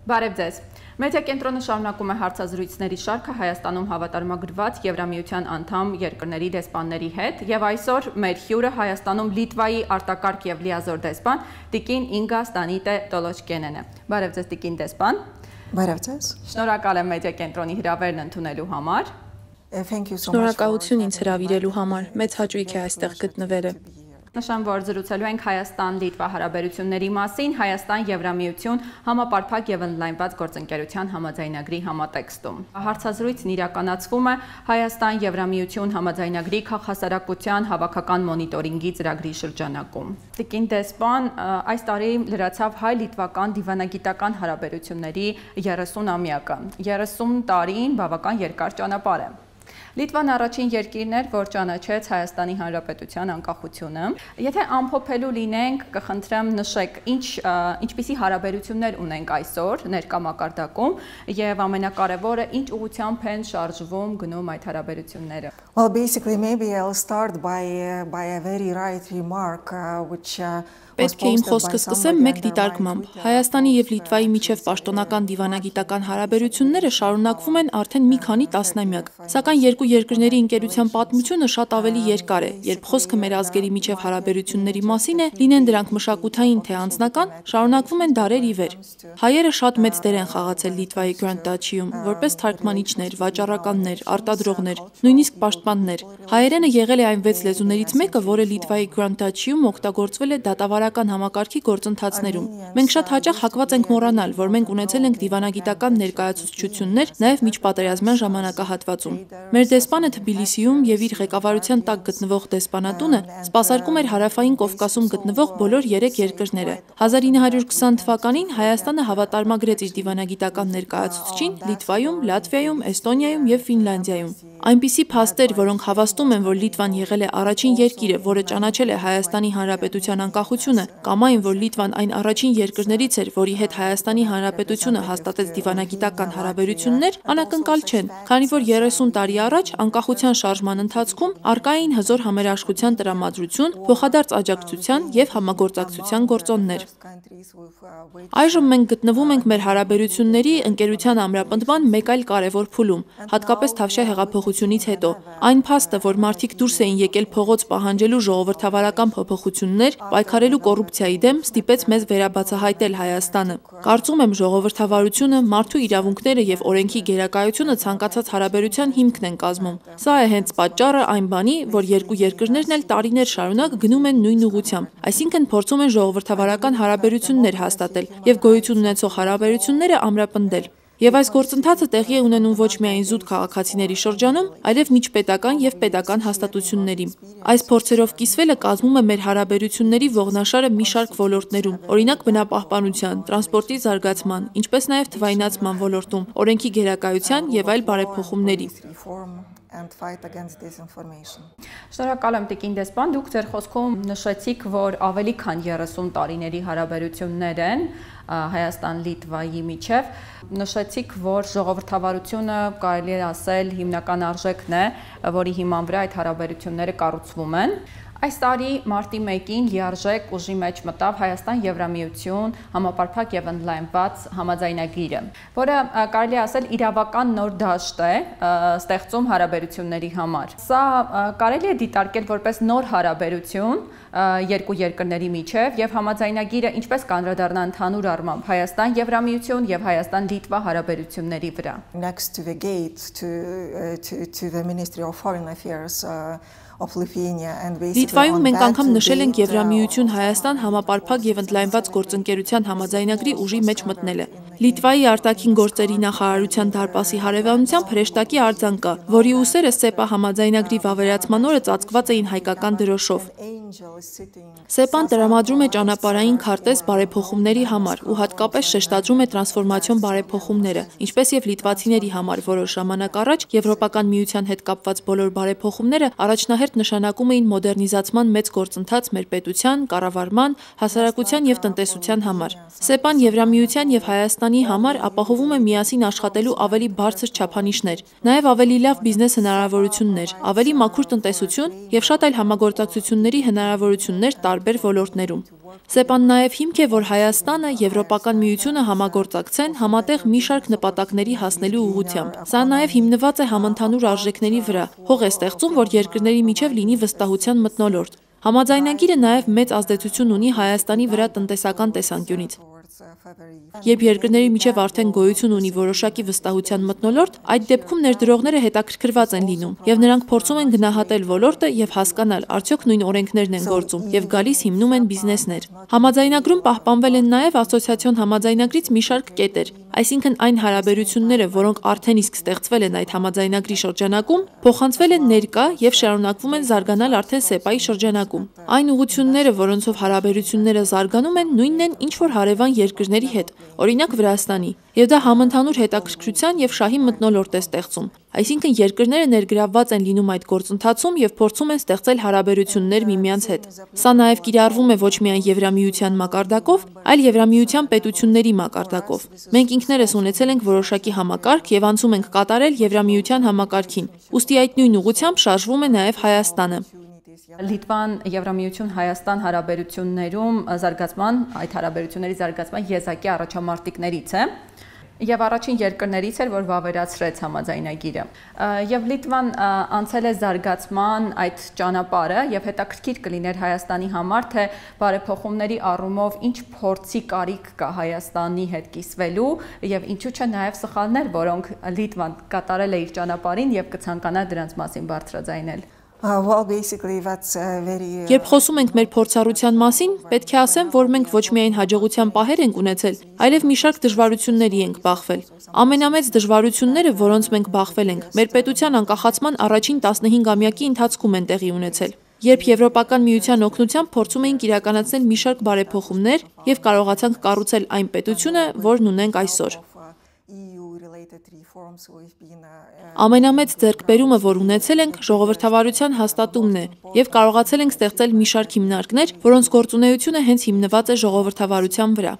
Բարև ձեզ։ Մեդիա կենտրոնը շարունակում է հարցազրույցների շարքը Հայաստանում հավատարմագրված Եվրամիության անդամ երկրների դեսպանների հետ եւ այսօր մեր հյուրը Հայաստանում Լիտվայի արտակարգ եւ լիազոր դեսպան Տիկին Ինգա Ստանիտե Տոլոչկենեն է։ Բարև ձեզ Տիկին դեսպան։ Բարև ձեզ։ Շնորհակալ եմ մեդիա կենտրոնի հրավերն ընդունելու համար։ Շնորհակալություն ինձ հրավիրելու համար։ Մեծ հաճույք է այստեղ գտնվելը։ Նշեմ, որ զրուցելու ենք Հայաստան-Լիտվա հարաբերությունների մասին, Հայաստան-Եվրամիություն համապարփակ եւ ընդլայնված գործընկերության համաձայնագրի համատեքստում։ Հարցազրույցն իրականացվում է Հայաստան-Եվրամիություն համաձայնագրի քաղաքասարակության հավաքական մոնիտորինգի ծրագրի շրջանակում։ Տիկին դեսպան, այս տարի լրացավ հայ-լիտվական դիվանագիտական հարաբերությունների 30-ամյակը։ 30 տարին բավական երկար ճանապարհ է։ Լիտվան առաջին երկիրն էր, որ ճանաչեց Հայաստանի Հանրապետության անկախությունը։ Եթե ամփոփելու լինենք, կխնդրեմ նշեք, ինչպիսի հարաբերություններ ունենք այսօր ներկա մակարդակում եւ ամենակարևորը ինչ ուղղությամբ են շարժվում գնում այդ հարաբերությունները։ Well, basically, maybe I'll start by a very right remark, which Պետք է իմ խոսքը սկսեմ մեկ դիտարկմամբ։ Հայաստանի եւ Լիտվայի միջև պաշտոնական դիվանագիտական հարաբերությունները շարունակվում են արդեն մի քանի տասնամյակ։ Սակայն երկու երկրների ընկերության պատմությունը շատ ավելի երկար է, երբ խոսքը մեր ազգերի միջև հարաբերությունների մասին է, լինեն դրանք մշակութային թե անձնական, շարունակվում են դարեր ի վեր։ Հայերը շատ մեծ դեր են խաղացել Լիտվայի Grand Duchy-ում, որպես թարգմանիչներ, վաճառականներ, արտադրողներ, նույնիսկ պաշտպաններ։ Հայերենը եղել է այն 6 լեզուներից մեկը, որը Լիտվայի Grand Duchy-ում օգտագործվել է դատավարական համակարգի գործընթացներում։ Մենք շատ հաճախ հակված ենք մոռանալ, որ մենք ունեցել ենք դիվանագիտական ներկայացուցչություններ նաև միջպատերազմյան ժամանակահատվածում։ Մեր դեսպանը Թբիլիսիում եւ իր ղեկավարության տակ գտնվող դեսպանատունը սպասարկում էր Հարավային Կովկասում գտնվող բոլոր 3 երկրները։ 1920 թվականին Հայաստանը հավատարմագրեց իր դիվանագիտական ներկայացուցչին Լիտվայում, Լատվիայում, Էստոնիայում եւ Ֆինլանդիայում։ Այնպիսի փաստեր, որոնք հավաստում են, որ Լիտվան եղել է առաջին երկիրը, որը ճանաչել է Հայաստանի Հանրապետության անկախությունը, կամ այն, որ Լիտվան այն առաջին երկրներից էր, որի հետ Հայաստանի Հանրապետությունը հաստատեց դիվանագիտական հարաբերություններ, անակնկալ չեն, քանի որ 30 տարի առաջ անկախության շարժման ընթացքում առկա էին հզոր համերաշխության տրամադրություն, փոխադարձ աջակցության եւ համագործակցության գործոններ։ Այժմ մենք գտնվում ենք մեր հարաբերությունների ընկերության ամրապնդման մեկ այլ կարևոր փուլում, հատկապես Թավշյա հեղափոխությունից հետո։ Այն փաստը, որ մարդիկ դուրս էին եկել փողոց պահանջելու ժողովրդավարական փոփոխություններ, պայքարելու կոռուպցիայի դեմ, ստիպեց մեզ վերաբացահայտել Հայաստանը։ Կարծում եմ, ժողովրդավարությունը, մարդու իրավունքները եւ օրենքի գերակայությունը ցանկացած հարաբերության հիմքն են կազմում։ Սա է հենց պատճառը այն բանի, որ երկու երկրներն էլ տարիներ շարունակ գնում են նույն ուղղությամբ, այսինքն փորձում են ժողովրդավարական հարաբերություններ հաստատել եւ գոյություն ունեցող հարաբերությունները ամրապնդել։ Եվ այս գործընթացը տեղի է ունենում ոչ միայն զուտ քաղաքացիների շրջանում, այլև միջպետական եւ պետական հաստատությունների։ Այս փորձերով կիսվելը կազմում է մեր հարաբերությունների ողնաշարը մի շարք ոլորտներում, օրինակ բնապահպանության, տրանսպորտի զարգացման, ինչպես նաեւ թվայնացման ոլորտում, օրենքի գերակայության եւ այլ բարեփոխումների։ Շնորհակալ եմ Տիկին դեսպան, դուք ձեր խոսքում նշեցիք, որ ավելի քան 30 տարիների հարաբերություններ են Հայաստան-Լիտվայի միջև, նշեցիք, որ ժողովրդավարությունը կարելի է ասել հիմնական արժեքն է, որի հիման վրա այդ հարաբերությունները կառուցվում են։ Այս տարի մարտի 1-ին լիարժեք ուժի մեջ մտավ Հայաստան-Եվրամիություն համապարփակ եւ ընդլայնված համաձայնագիրը, որը կարելի է ասել իրավական նոր դաշտ է ստեղծում հարաբերությունների համար։ Սա կարելի է դիտարկել որպես նոր հարաբերություն երկու երկրների միջև եւ համաձայնագիրը ինչպես կանդրադառնա ընդհանուր առմամբ Հայաստան-Եվրամիություն եւ Հայաստան-Լիտվա հարաբերությունների վրա։ Next to the gate to the Ministry of Foreign Affairs Լիտվայում մենք անգամ նշել ենք Եվրամիություն Հայաստան համապարփակ եւ ընդլայնված գործընկերության համաձայնագրի ուժի մեջ մտնելը։ Լիտվայի արտաքին գործերի նախարարության դարպասի հարևանությամբ հրեշտակի արձան կա, որի ուսերը ՍԵՊԱ համաձայնագրի վավերացման օրը ծածկված էին հայկական դրոշով։ ՍԵՊԱ-ն տրամադրում է ճանապարհային քարտեզ բարեփոխումների համար ու հատկապես շեշտադրում է տրանսֆորմացիոն բարեփոխումները, ինչպես եւ լիտվացիների համար որոշ ժամանակ առաջ Եվրոպական միության հետ կապված բոլոր բարեփոխումները առաջնահերթ նշանակում էին մոդեռնիզացման մեծ գործընթաց մեր պետության, կառավարման, հասարակության եւ տնտեսության համար։ ՍԵՊԱ-ն Եվրամիության եւ Հայաստանի համար ապահովում է միասին աշխատելու ավելի բարձր չափանիշներ, նաեւ ավելի լավ բիզնես հնարավորություններ, ավելի մաքուր տնտեսություն եւ շատ այլ համագործակցությունների հնարավորություններ տարբեր ոլորտներում։ ՍԵՊԱ-ն նաև հիմք է, որ Հայաստանը, Եվրոպական միությունը համագործակցեն համատեղ մի շարք նպատակների հասնելու ուղղությամբ։ Սա նաև հիմնված է համընդհանուր արժեքների վրա, հող է ստեղծում, որ երկրների միջև լինի վստահության մթնոլորտ։ Համաձայնագիրը նաև մեծ ազդեցություն ունի Հայաստանի վրա տնտեսական տեսանկյունից։ Երբ երկրների միջև արդեն գոյություն ունի որոշակի վստահության մթնոլորտ, այդ դեպքում ներդրողները հետաքրքրված են լինում, եւ նրանք փորձում են գնահատել ոլորտը եւ հասկանալ, արդյոք նույն օրենքներն են գործում, եւ գալիս հիմնում են բիզնեսներ։ Համաձայնագրում պահպանվել են նաև ասոցիացիոն համաձայնագրից մի շարք կետեր, այսինքն այն հարաբերությունները, որոնք արդեն իսկ ստեղծվել են այդ համաձայնագրի շրջանակում, փոխանցվել են ներկա եւ շարունակվում են զարգանալ արդեն ՍԵՊԱ-ի շրջանակում։ Այն ուղղությունները, որոնցով հարաբերությունները զարգանում են, նույնն են, ինչ որ հարևան երկրների հետ, օրինակ Վրաստանի, եւ դա համընդհանուր հետաքրքրության եւ շահի մթնոլորտ է ստեղծում։ Այսինքն երկրները ներգրավված են լինում այդ գործընթացում եւ փորձում են ստեղծել հարաբերություններ միմյանց հետ։ Սա նաեւ կիրառվում է ոչ միայն Եվրամիության մակարդակով, այլ Եվրամիության պետությունների մակարդակով։ Մենք ինքներս ունեցել ենք որոշակի համակարգ եւ անցում ենք կատարել Եվրամիության համակարգին։ Ուստի այդ նույն ուղղությամբ շարժվում է նաեւ Հայաստանը։ Լիտվան Եվրամիություն Հայաստան հարաբերություններում այդ հարաբերությունների զարգացման եզակի առաջամարտիկներից է եւ առաջին երկրներից էր, որ վավերացրեց համաձայնագիրը։ Եվ Լիտվան անցել է զարգացման այդ ճանապարհը եւ հետաքրքիր կլիներ Հայաստանի համար, թե բարեփոխումների առումով ինչ փորձի կարիք կա Հայաստանի հետ կիսվելու եւ ինչու՞ չէ նաեւ սխալներ, որոնք Լիտվան կատարել է իր ճանապարհին եւ կցանկանա դրանց մասին բարձրաձայնել։ Երբ խոսում ենք մեր փորձառության մասին, պետք է ասեմ, որ մենք ոչ միայն հաջողության պահեր ենք ունեցել, այլև մի շարք դժվարությունների ենք բախվել։ Ամենամեծ դժվարությունները, որոնց մենք բախվել ենք, մեր պետության անկախացման առաջին 15-ամյակի ընթացքում են տեղի ունեցել։ Երբ Եվրոպական միության օգնությամբ փորձում էինք իրականացնել մի շարք բարեփոխումներ եւ կարողացանք կառուցել այն պետությունը, որն ունենք այսօր։ Ամենամեծ ձեռքբերումը, որ ունեցել ենք, ժողովրդավարության հաստատումն է եւ կարողացել ենք ստեղծել մի շարք հիմնարկներ, որոնց գործունեությունը հենց հիմնված է ժողովրդավարության վրա։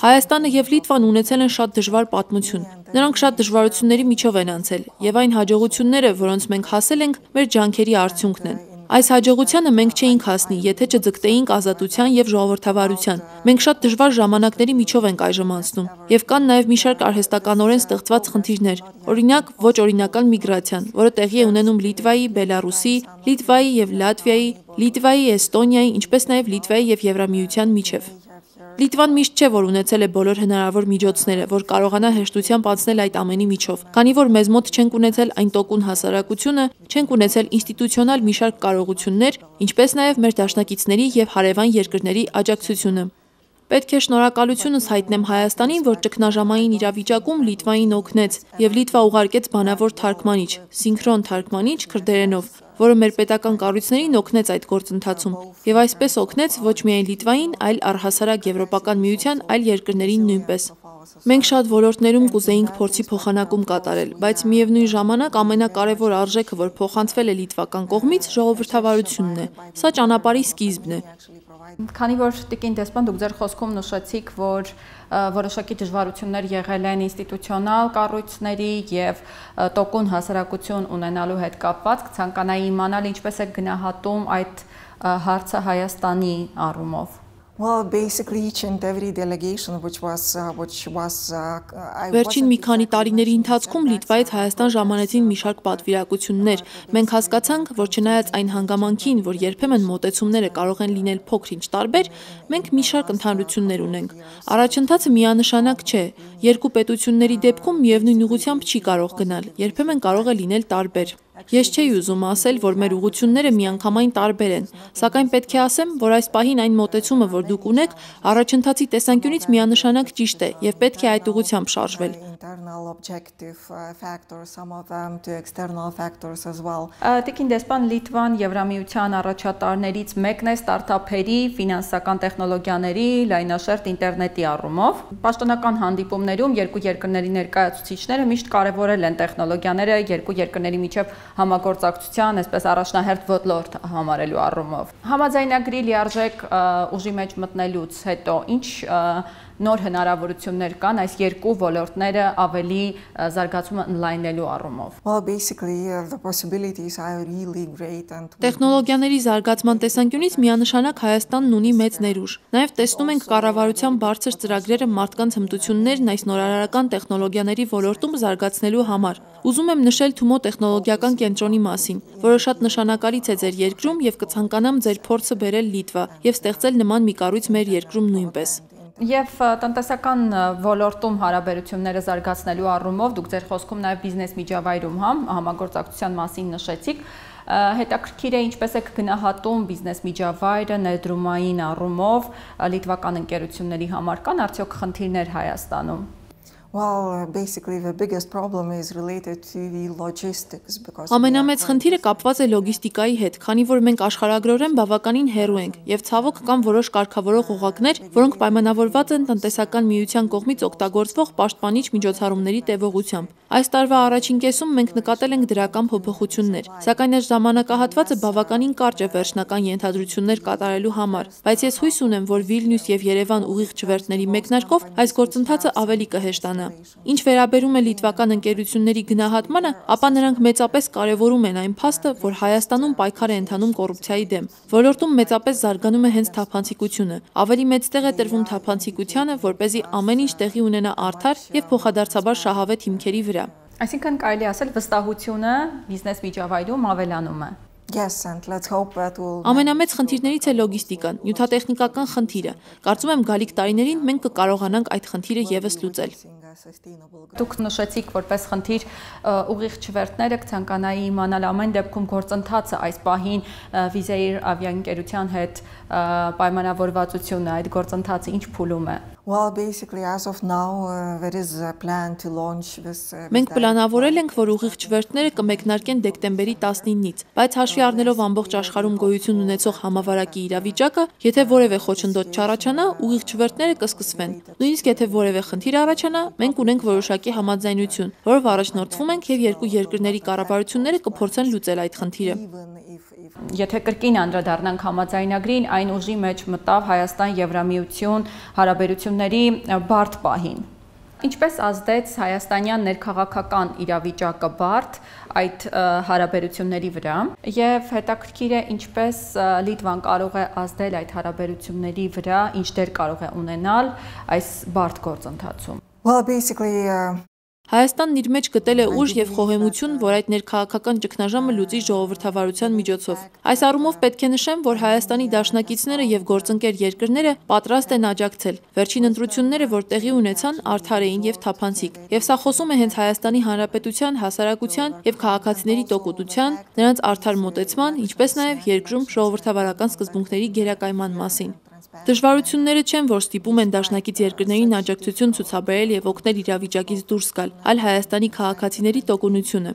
Հայաստանը եւ Լիտվան ունեցել են շատ դժվար պատմություն։ Նրանք շատ դժվարությունների միջով են անցել եւ այն հաջողությունները, որոնց մենք հասել ենք, մեր ջանքերի արդյունքն են։ Այս հաջողությանը մենք չէինք հասնի, եթե չձգտեինք ազատության եւ ժողովրդավարության։ Մենք շատ դժվար ժամանակների միջով ենք այժմ անցնում եւ կան նաեւ մի շարք արհեստականորեն ստեղծված խնդիրներ։ Օրինակ, ոչ օրինական միգրացիան, որը տեղի է ունենում Լիտվայի, Բելարուսի, Լիտվայի եւ Լատվիայի, Լիտվայի, Էստոնիայի, ինչպես նաեւ Լիտվայի եւ Եվրամիության միջև։ Լիտվան միշտ չէ, որ ունեցել է բոլոր հնարավոր միջոցները, որ կարողանա հեշտությամբ անցնել այդ ամենի միջով, քանի որ մեզ մոտ չենք ունեցել այն տոկուն հասարակությունը, չենք ունեցել ինստիտուցիոնալ մի շարք կարողություններ, ինչպես նաև մեր դաշնակիցների եւ հարևան երկրների աջակցությունը։ Պետք է շնորհակալությունս հայտնեմ Հայաստանին, որ ճգնաժամային իրավիճակում Լիտվային օգնեց եւ Լիտվա ուղարկեց բանավոր թարգմանիչ, սինխրոն թարգմանիչ քրդերենով, որը մեր պետական կառույցներին օգնեց այդ գործընթացում եւ այսպես օգնեց ոչ միայն Լիտվային, այլ առհասարակ Եվրոպական միության այլ երկրներին նույնպես։ Մենք շատ ոլորտներում կուզեինք փորձի փոխանակում կատարել, բայց միևնույն ժամանակ ամենակարևոր արժեքը, որ փոխանցվել է լիտվական կողմից, ժողովրդավարությունն է։ Սա ճանապարհի սկիզբն է։ Քանի որ Տիկին դեսպան դուք ձեր խոսքում նշեցիք, որ որոշակի դժվարություններ եղել են ինստիտուցիոնալ կառույցների եւ տոկուն հասարակություն ունենալու հետ կապված, կցանկանայի իմանալ ինչպես է գնահատում այդ հարցը Հայաստանի առումով։ Well, basically each and every delegation which was Վերջին մի քանի տարիների ընթացքում Լիտվայից Հայաստան ժամանեցին մի շարք պատվիրակություններ։ Մենք հասկացանք, որ չնայած այն հանգամանքին, որ երբեմն մոտեցումները կարող են լինել փոքր-ինչ տարբեր, մենք մի շարք ընդհանրություններ ունենք։ Առաջընթացը միանշանակ չէ։ Երկու պետությունների դեպքում միևնույն ուղղությամբ չի կարող գնալ, երբեմն կարող է լինել տարբեր։ Ես չէի ուզում ասել, որ մեր ուղղությունները միանգամայն տարբեր են, սակայն պետք է ասեմ, որ այս պահին այն մոտեցումը, որ դուք ունեք, առաջընթացի տեսանկյունից միանշանակ ճիշտ է եւ պետք է այդ ուղղությամբ շարժվել։ Տիկին դեսպան, Լիտվան Եվրամիության առաջատարներից մեկն է ստարտափերի, ֆինանսական տեխնոլոգիաների, լայնաշերտ ինտերնետի առումով։ Պաշտոնական հանդիպումներում երկու երկրների ներկայացուցիչները միշտ կարևորել են տեխնոլոգիաները երկու երկրների միջև համագործակցության, այսպես առաջնահերթ ոլորտ համարելու առումով։ Համաձայնագրի լիարժեք ուժի մեջ մտնելուց հետո ինչ նոր հնարավորություններ կան այս երկու ոլորտները ավելի զարգացումը ընդլայնելու առումով։ Well, basically, the possibilities are really great and Տեխնոլոգիաների զարգացման տեսանկյունից միանշանակ Հայաստանն ունի մեծ ներուժ։ Նաև տեսնում ենք կառավարության բարձր ծրագրերը մարդկանց հմտություններն այս նորարարական տեխնոլոգիաների ոլորտում զարգացնելու համար։ Ուզում եմ նշել Թումո տեխնոլոգիական կենտրոնի մասին, որը շատ նշանակալից է ձեր երկրում եւ կցանկանամ ձեր փորձը բերել Լիտվա եւ ստեղծել նման մի կառույց մեր երկրում նույնպես։ Եվ տնտեսական ոլորտում հարաբերությունները զարգացնելու առումով դուք ձեր խոսքում նաև բիզնես միջավայրում համագործակցության մասին նշեցիք, հետաքրքիր է ինչպես եք գնահատում բիզնես միջավայրը ներդրումային առումով լիտվական ընկերությունների համար կան արդյոք խնդիրներ Հայաստանում։ Well, basically the biggest problem is related to the logistics because Ամենամեծ խնդիրը կապված է լոգիստիկայի հետ, քանի որ մենք աշխարհագրորեն բավականին հեռու ենք եւ ցավոք կան որոշ կարգավորող օղակներ, որոնք պայմանավորված են տնտեսական միության կողմից օգտագործվող պաշտպանիչ միջոցառումների տևողությամբ։ Այս տարվա առաջին կեսում մենք նկատել ենք դրական փոփոխություններ, սակայն այս ժամանակահատվածը բավականին կարճ է վերջնական ենթադրություններ կատարելու համար, բայց ես հույս ունեմ, որ Վիլնյուս եւ Երևան ուղիղ չվերթների մեկնարկով այս գործընթացը ավելի կհեշտանա։ Ինչ վերաբերում է լիտվական ընկերությունների գնահատմանը, ապա նրանք մեծապես կարևորում են այն փաստը, որ Հայաստանում պայքար է ընթանում կոռուպցիայի դեմ։ Ոլորտում մեծապես զարգանում է հենց թափանցիկությունը։ Ավելի մեծ տեղ է տրվում թափանցիկությանը, որպեսզի ամեն ինչ տեղի ունենա արդար եւ փոխադարձաբար շահավետ հիմքերի վրա։ Այսինքն կարելի ասել վստահությունը բիզնես միջավայրում ավելանում է։ yes, and let's hope that will Ամենամեծ խնդիրներից է լոգիստիկան, նյութատեխնիկական խնդիրը։ Կարծում եմ գալիք տարիներին մենք կկարողանանք այդ խնդիրը եւս լուծել։ Դուք նշեցիք որպես խնդիր ուղիղ չվերթները, կցանկանայի իմանալ ամեն դեպքում գործընթացը այս պահին Վիզեիր ավիաընկերության հետ պայմանավորվածությունը, այդ գործընթացը ինչ փուլում է։ Well, basically, as of now, there is a plan to launch this. Մենք պլանավորել ենք, որ ուղիղ չվերթները կմեկնարկեն դեկտեմբերի 19-ից, բայց հաշվի առնելով ամբողջ աշխարհում գոյություն ունեցող համավարակի իրավիճակը, եթե որևէ խոչընդոտ չառաջանա, ուղիղ չվերթները կսկսվեն։ Նույնիսկ եթե որևէ խնդիր առաջանա, մենք ունենք որոշակի համաձայնություն, որով առաջնորդվում ենք եւ երկու երկրների կառավարությունները կփորձեն լուծել այդ խնդիրը։ Եթե կրկին անդրադառնանք համաձայնագրին, այն ուժի մեջ մտավ Հայաստան-Եվրամիություն հարաբերությունների բարդ պահին։ Ինչպես ազդեց հայաստանյան ներքաղաքական իրավիճակը բարդ այդ հարաբերությունների վրա եւ հետաքրքիր է ինչպես Լիտվան կարող է ազդել այդ հարաբերությունների վրա, ինչ դեր կարող է ունենալ այս բարդ գործընթացում։ Well, basically, Հայաստանն իր մեջ գտել է ուժ եւ խոհեմություն, որ այդ ներքաղաքական ճգնաժամը լուծի ժողովրդավարության միջոցով։ Այս առումով պետք է նշեմ, որ Հայաստանի դաշնակիցները եւ գործընկեր երկրները պատրաստ են աջակցել։ Վերջին ընտրությունները, որ տեղի ունեցան, արդար էին եւ թափանցիկ։ Եվ սա խոսում է հենց Հայաստանի Հանրապետության, հասարակության եւ քաղաքացիների տոկունության, նրանց արդար մոտեցման, ինչպես նաեւ երկրում ժողովրդավարական սկզբունքների գերակայման մասին։ Դժվարությունները չեն, որ ստիպում են դաշնակից երկրներին աջակցություն ցուցաբերել եւ օգնել իրավիճակից դուրս գալ, այլ Հայաստանի քաղաքացիների տոկունությունը։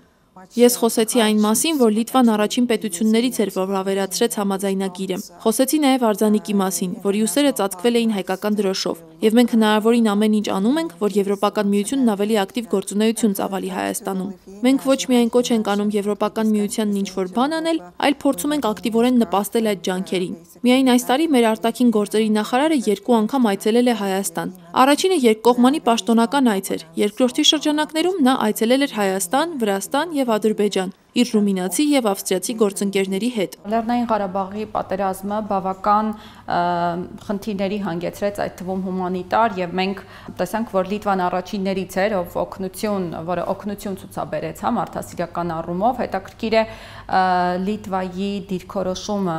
Ես խոսեցի այն մասին, որ Լիտվան առաջին պետություններից էր, որ ավերացրեց համաձայնագիրը։ Խոսեցի նաև արձանիկի մասին, որի ուսերը ծածկվել էին հայկական դրոշով, եւ մենք հնարավորին ամեն ինչ անում ենք, որ Եվրոպական միությունն ավելի ակտիվ գործունեություն ծավալի Հայաստանում։ Մենք ոչ միայն կոչ ենք անում Եվրոպական միությանն ինչ-որ բան անել, այլ փորձում ենք ակտիվորեն նպաստել այդ ջանքերին։ Միայն այս տարի մեր արտաքին գործերի նախարարը 2 անգամ այցելել է Հայաստան։ Առաջինը երկկողմանի պաշտոնական այց էր, երկրորդի շրջանակներում նա այցելել էր Հայաստան, Վրաստան եւ Ադրբեջան իր ռումինացի եւ ավստրիացի գործընկերների հետ։ Լեռնային Ղարաբաղի պատերազմը բավական խնդիրների հանգեցրեց, այդ թվում հումանիտար, եւ մենք տեսանք, որ Լիտվան առաջիններից էր, որը օգնություն ցուցաբերեց մարդասիրական առումով։ Հետաքրքիր է Լիտվայի դիրքորոշումը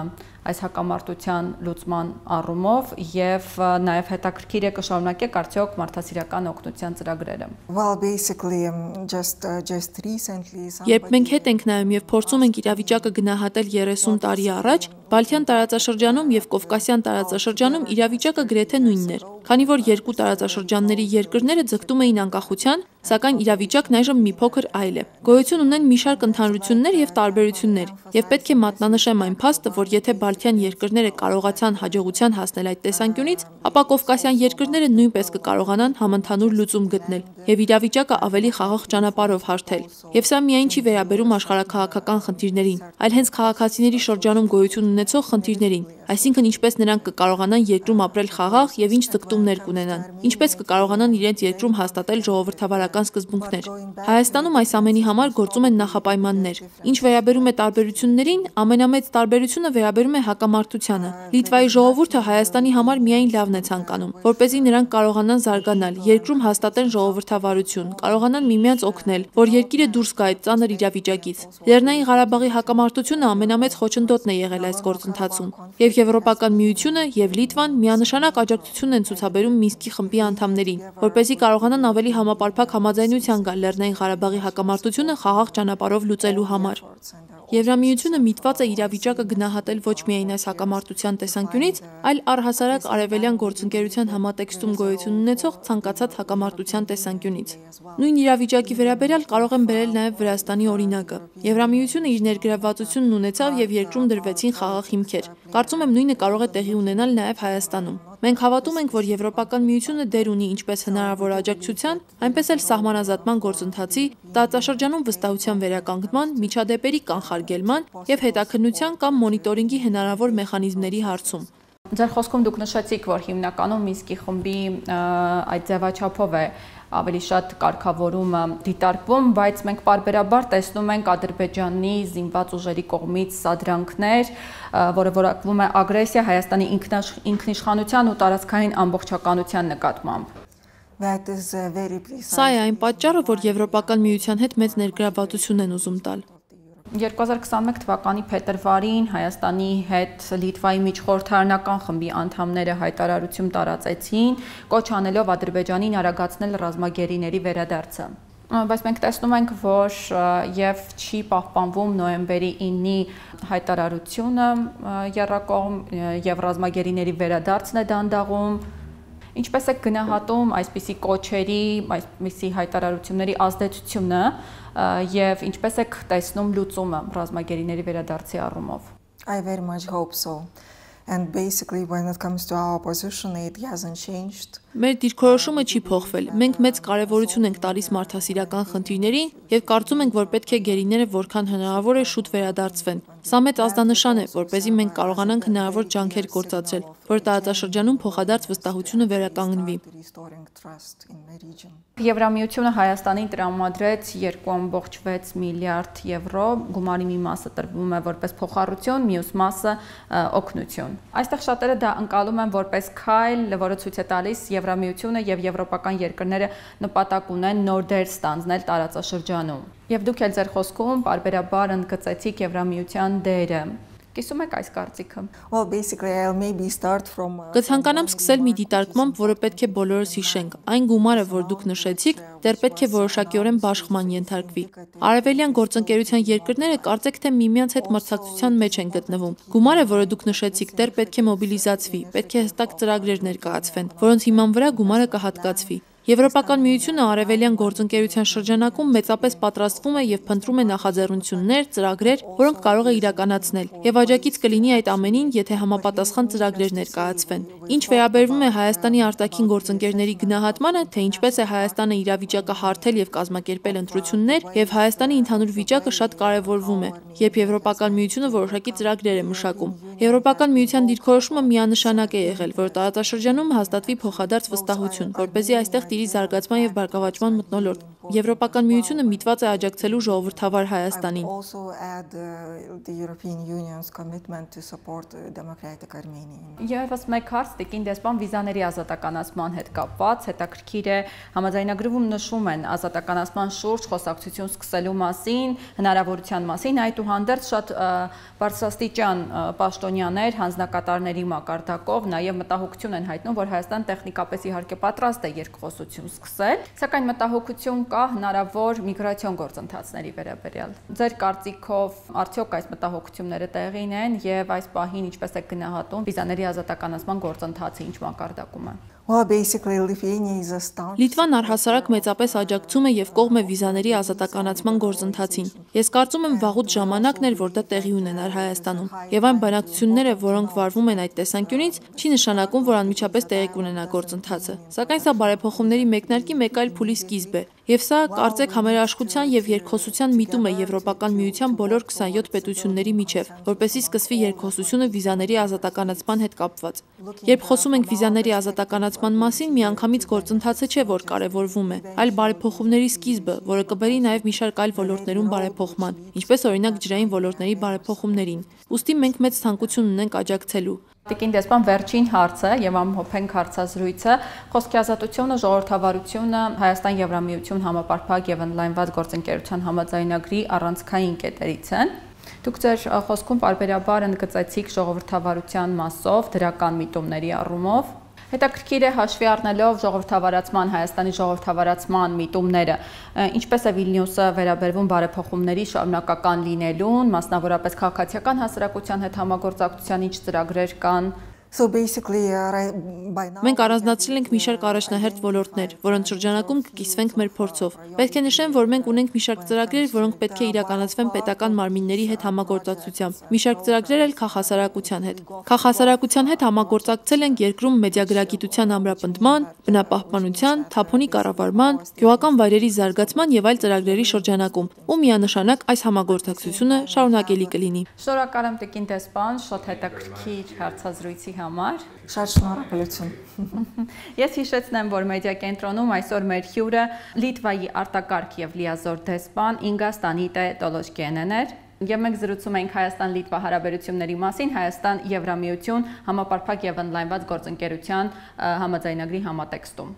այս հակամարտության լուծման առումով եւ նաեւ հետաքրքիր է կշարունակեք արդյոք մարդասիրական օգնության ծրագրերը։ Well, basically, just recently Երբ մենք հետ ենք նայում եւ փորձում ենք իրավիճակը գնահատել 30 տարի առաջ, Բալթյան տարածաշրջանում եւ Կովկասյան տարածաշրջանում իրավիճակը գրեթե նույնն էր, քանի որ երկու տարածաշրջանների երկրները ձգտում էին անկախության, սակայն իրավիճակն այժմ մի փոքր այլ է։ Գոյություն ունեն մի շարք ընդհանրություններ եւ տարբերություններ, եւ պետք է մատնանշեմ այն փաստը, որ եթե Բալթյան երկրները կարողացան հաջողության հասնել այդ տեսանկյունից, ապա Կովկասյան երկրները նույնպես կկարողանան համընդհանուր լուծում գտնել եւ իրավիճակը ավելի խաղաղ ճանապարհով հարթել։ Եվ սա միայն չի վերաբերում աշխարհաքաղաքական խնդիրներին, այլ հենց քաղաքացիների շրջանում գոյություն ունեցող խնդիրներին, այսինքն ինչպես նրանք կկարողանան երկրում ապրել խաղաղ եւ ինչ ձգտումներ կունենան, ինչպես կկարողանան իրենց երկրում հաստատել ժողովրդավարական սկզբունքներ։ Հայաստանում այս ամենի համար գործում են նախապայմաններ։ Ինչ վերաբերում է տարբերություններին, ամենամեծ տարբերությունը վերաբերում է հակամարտությանը։ Լիտվայի ժողովուրդը Հայաստանի համար միայն լավն է ցանկանում, որպեսզի նրանք կարողանան զարգանալ, երկրում հաստատեն ժողովրդավարություն, կարողանան միմյանց օգնել, որ երկիրը դուրս գա այդ ծանր իրավիճակից։ Լեռնային Ղարաբաղի հակամարտությունը ամենամեծ խոչընդոտն է եղել այս գործընթացում, եւ Եվրոպական միությունը եւ Լիտվան միանշանակ աջակցություն են ցուցաբերում Մինսկի խմբի անդամներին, որպեսզի կարողանան ավելի համապարփակ համաձայնության գալ Լեռնային Ղարաբաղի հակամարտությունը խաղաղ ճանապարհով լուծելու համար։ Եվրամիությունը միտված է իրավիճակը գնահատել ոչ միայն այս հակամարտության տեսանկյունից, այլ առհասարակ արևելյան գործընկերության համատեքստում գոյություն ունեցող ցանկացած հակամարտության տեսանկյունից։ Նույն իրավիճակի վերաբերյալ կարող եմ բերել նաև Վրաստանի օրինակը։ Եվրամիությունը իր ներգրավվածությունն ունեցավ եւ երկրում դրվեցին խաղաղ հիմքեր։ Կարծում եմ նույնը կարող է տեղի ունենալ նաև Հայաստանում։ Մենք հավատում ենք, որ Եվրոպական միությունը դեր ունի ինչպես հնարավոր աջակցության, այնպես էլ սահմանազատման գործընթացի, տարածաշրջանում վստահության վերականգնման, միջադեպերի կանխարգելման եւ հետաքննության կամ մոնիտորինգի հնարավոր մեխանիզմների հարցում։ Ձեր խոսքում դուք նշեցիք, որ հիմնականում Մինսկի խմբի այդ ձևաչափով է ավելի շատ կարգավորումը դիտարկվում, բայց մենք պարբերաբար տեսնում ենք Ադրբեջանի զինված ուժերի կողմից սադրանքներ, որը որակվում է ագրեսիա Հայաստանի ինքնիշխանության ու տարածքային ամբողջականության նկատմամբ։ Սա է այն պատճառը, որ Եվրոպական միության հետ մեծ ներգրավվածություն են ուզում տալ։ 2021 թվականի փետրվարին Հայաստանի հետ Լիտվայի միջխորհրդարանական խմբի անդամները հայտարարություն տարածեցին, կոչ անելով Ադրբեջանին արագացնել ռազմագերիների վերադարձը։ Բայց մենք տեսնում ենք, որ եւ չի պահպանվում նոյեմբերի 9-ի հայտարարությունը եռակողմ եւ ռազմագերիների վերադարձն է դանդաղում։ Ինչպես է գնահատում այսպիսի կոչերի, այսպիսի հայտարարությունների ազդեցությունը եւ ինչպես եք տեսնում լուծումը ռազմագերիների վերադարձի առումով։ I very much hope so. And basically when it comes to our position it hasn't changed. Մեր դիրքորոշումը չի փոխվել։ Մենք մեծ կարևորություն ենք տալիս մարդասիրական խնդիրներին եւ կարծում ենք, որ պետք է գերիները որքան հնարավոր է շուտ վերադարձվեն։ Սա մեծ ազդանշան է, որպեսզի մենք կարողանանք հնարավոր ջանքեր գործադրել, որ տարածաշրջանում փոխադարձ վստահությունը վերականգնվի։ Եվրամիությունը Հայաստանին տրամադրեց 2.6 միլիարդ եվրո, գումարի մի մասը տրվում է որպես փոխառություն, մյուս մասը օգնություն։ Այստեղ շատերը դա ընկալում են որպես քայլ, որը ցույց է տալիս Եվրամիությունը եւ եվրոպական երկրները նպատակ ունեն նոր դեր ստանձնել տարածաշրջանում։ Եվ դուք էլ ձեր խոսքում պարբերաբար ընդգծեցիք Եվրամիության դերը։ Կիսում եք այս կարծիքը։ Well, basically I'll maybe start from Կցանկանամ սկսել մի դիտարկմամբ, որը պետք է բոլորս հիշենք։ Այն գումարը, որ դուք նշեցիք, դեռ պետք է որոշակիորեն բաշխման ենթարկվի։ Արևելյան գործընկերության երկրները կարծեք թե միմյանց հետ մրցակցության մեջ են գտնվում։ Գումարը, որը դուք նշեցիք, դեռ պետք է մոբիլիզացվի, պետք է հստակ ծրագրեր ներկայացվեն, որոնց հիման վրա գումարը կհատկացվի։ Եվրոպական միությունը արևելյան գործընկերության շրջանակում մեծապես պատրաստվում է եւ փնտրում է նախաձեռնություններ, ծրագրեր, որոնք կարող է իրականացնել, եւ աջակից կլինի այդ ամենին, եթե համապատասխան ծրագրեր ներկայացվեն։ Ինչ վերաբերվում է Հայաստանի արտաքին գործընկերների գնահատմանը, թե ինչպես է Հայաստանը իրավիճակը հարթել եւ կազմակերպել ընտրություններ, եւ Հայաստանի ընդհանուր վիճակը շատ կարեւորվում է, երբ Եվրոպական միությունը որոշակի ծրագրեր է մշակում։ Եվրոպական միության դիրքորոշումը միանշանակ է եղել, որ տարածաշրջանում հաստատվի փոխադարձ վստահություն, որպեսզի այստեղ տիրի զարգացման եւ բարգավաճման մթնոլորտ։ Եվրոպական միությունը միտված է աջակցելու ժողովրդավար Հայաստանին։ Եվս մեկ հարց տիկին դեսպան վիզաների ազատականացման հետ կապված հետաքրքիր է համաձայնագրվում նշում են ազատականացման շուրջ խոսակցություն սկսելու մասին, հնարավորության մասին, այդուհանդերձ շատ բարձրաստիճան պաշտոնյաներ, հանձնակատարների մակարդակով նաև մտահոգություն են հայտնում, որ Հայաստան տեխնիկապես իհարկե պատրաստ է երկխոսություն սկսել, սակայն մտահոգություն կա հնարավոր միգրացիոն գործընթացների վերաբերյալ։ Ձեր կարծիքով արդյոք այս մտահոգությունները տեղին են եւ այս պահին ինչպես է գնահատում վիզաների ազատականացման գործընթացը ինչ մակարդակում է։ Well, basically Lithuania is a start. Լիտվան առհասարակ մեծապես աջակցում է եւ կողմ է վիզաների ազատականացման գործընթացին։ Ես կարծում եմ վաղուց ժամանակն էր, որ դա տեղի ունենար Հայաստանում։ Եվ այն բանակցությունները, որոնք վարվում են այդ տեսանկյունից, չի նշանակում, որ անմիջապես տեղի կունենա գործընթացը։ Սակայն սա բարեփոխումների մեկնարկի մեկ այլ փուլի սկիզբ է։ Եվ սա կարծեք համերաշխության եւ երկխոսության միտում է Եվրոպական միության բոլոր 27 պետությունների միջև, որպեսզի սկսվի երկխոսությունը վիզաների ազատականացման հետ կապված։ Երբ խոսում ենք վիզաների ազատականացման մասին, միանգամից գործընթացը չէ, որ կարևորվում է, այլ բարեփոխումների սկիզբը, որը կբերի նաեւ մի շարք այլ ոլորտներում բարեփոխման, ինչպես օրինակ ջրային ոլորտների բարեփոխումներին։ Ուստի մենք մեծ ցանկություն ունենք աջակցելու։ Տիկին դեսպան, վերջին հարցը եւ ամփոփենք հարցազրույցը, խոսքի ազատությունը, ժողովրդավարությունը, Հայաստան-Եվրամիություն համապարփակ եւ ընդլայնված գործընկերության համաձայնագրի առանցքային կետերից են։ Դուք ձեր խոսքում պարբերաբար ընդգծեցիք ժողովրդավարության մասով դրական միտումների առումով։ Հետաքրքիր է հաշվի առնելով ժողովրդավարացման, Հայաստանի ժողովրդավարացման միտումները, ինչպես է Վիլնյուսը վերաբերվում բարեփոխումների շարունակական լինելուն, մասնավորապես քաղաքացիական հասարակության հետ համագործակցության ինչ ծրագրեր կան։ Մենք առանձնացրել ենք մի շարք առաջնահերթ ոլորտներ, որոնց շրջանակում կկիսվենք մեր փորձով։ Պետք է նշեմ, որ մենք ունենք մի շարք ծրագրեր, որոնք պետք է իրականացվեն պետական մարմինների հետ համագործակցությամբ, մի շարք ծրագրեր էլ քաղաքասարակության հետ։ Քաղաքասարակության հետ համագործակցել ենք երկրում մեդիագրագիտության ամրապնդման, բնապահպանության, թափոնի կառավարման, գյուղական վայրերի զարգացման եւ այլ ծրագրերի շրջանակում, ու միանշանակ այս համագործակցությունը շարունակելի կլինի։ Շնորհակալ եմ տիկին դեսպան, շատ հետաքրքիր հարցազրույցի համար։ Շատ շնորհակալություն։ Ես հիշեցնեմ, որ մեդիա կենտրոնում այսօր մեր հյուրը Լիտվայի արտակարգ եւ լիազոր դեսպան Ինգա Ստանիտե Տոլոշկենեն էր։ Եվ մենք զրուցում ենք Հայաստան-Լիտվա հարաբերությունների մասին, Հայաստան-Եվրամիություն համապարփակ եւ ընդլայնված գործընկերության համաձայնագրի համատեքստում։